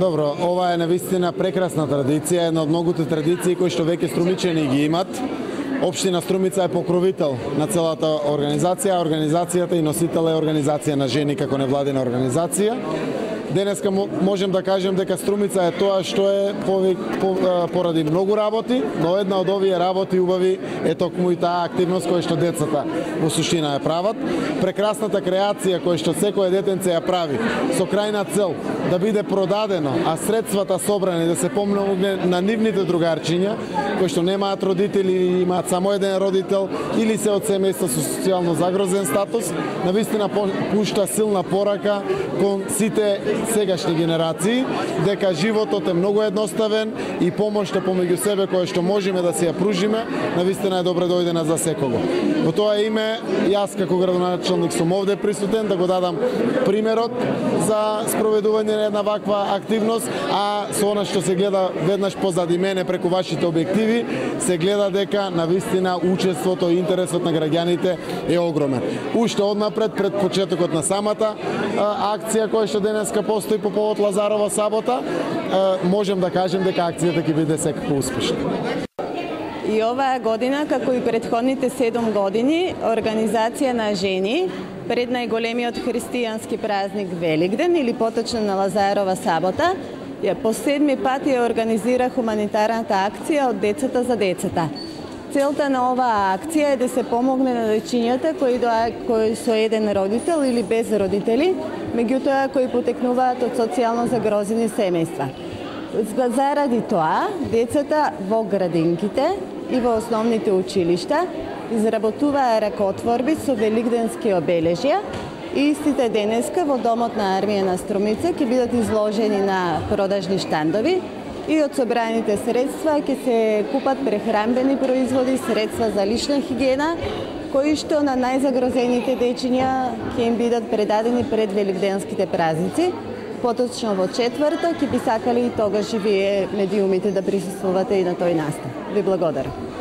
Добро, ова е навистина прекрасна традиција, една од многуте традиции кои што веќе струмичани ги имат. Општина Струмица е покровител на целата организација, организацијата и носител е организација на жени како невладина организација. Денеска можем да кажем дека Струмица е тоа што е поради многу работи, но една од овие работи убави е токму и таа активност која што децата во суштина ја прават. Прекрасната креација која што секој детенце ја прави со крајна цел да биде продадено, а средствата собрани да се помогне на нивните другарчиња кои што немаат родители или имаат само еден родител или се од семејства со социјално загрозен статус, навистина пушта силна порака кон сите сегашни генерации дека животот е многу едноставен и помошта помеѓу себе која што можеме да се ја пружиме, навистина е добре дојдена за секого. Во тоа име, јас како градоначелник сум овде присутен да го дадам примерот за спроведување на една ваква активност, а со она што се гледа веднаш позади мене преку вашите објективи, се гледа дека навистина учеството и интересот на граѓаните е огромен. Уште однапред пред почетокот на самата акција која што денеска постои по повод Лазарова сабота, можем да кажем дека акцијата ќе биде секако успешна. И оваа година, како и претходните 7 години, организација на жени пред најголемиот христијански празник Великден или поточно на Лазарова сабота, по 7 пат ја организира хуманитарната акција од децата за децата. Целта на оваа акција е да се помогне на дечињата кои со еден родител или без родители, меѓутоа кои потекнуваат од социјално загрозени семејства. Заради тоа, децата во градинките и во основните училишта изработуваа ракотворби со великденски обележја и истите денеска во Домот на армија на Струмица ќе бидат изложени на продажни штандови и од собраните средства ќе се купат прехранбени производи, средства за лична хигиена, кои што на најзагрозените дечиња ќе им бидат предадени пред великденските празници. Поточно во четврток ќе би сакали и тогаш и вие медиумите да присуствувате и на тој настан. Ви благодарам.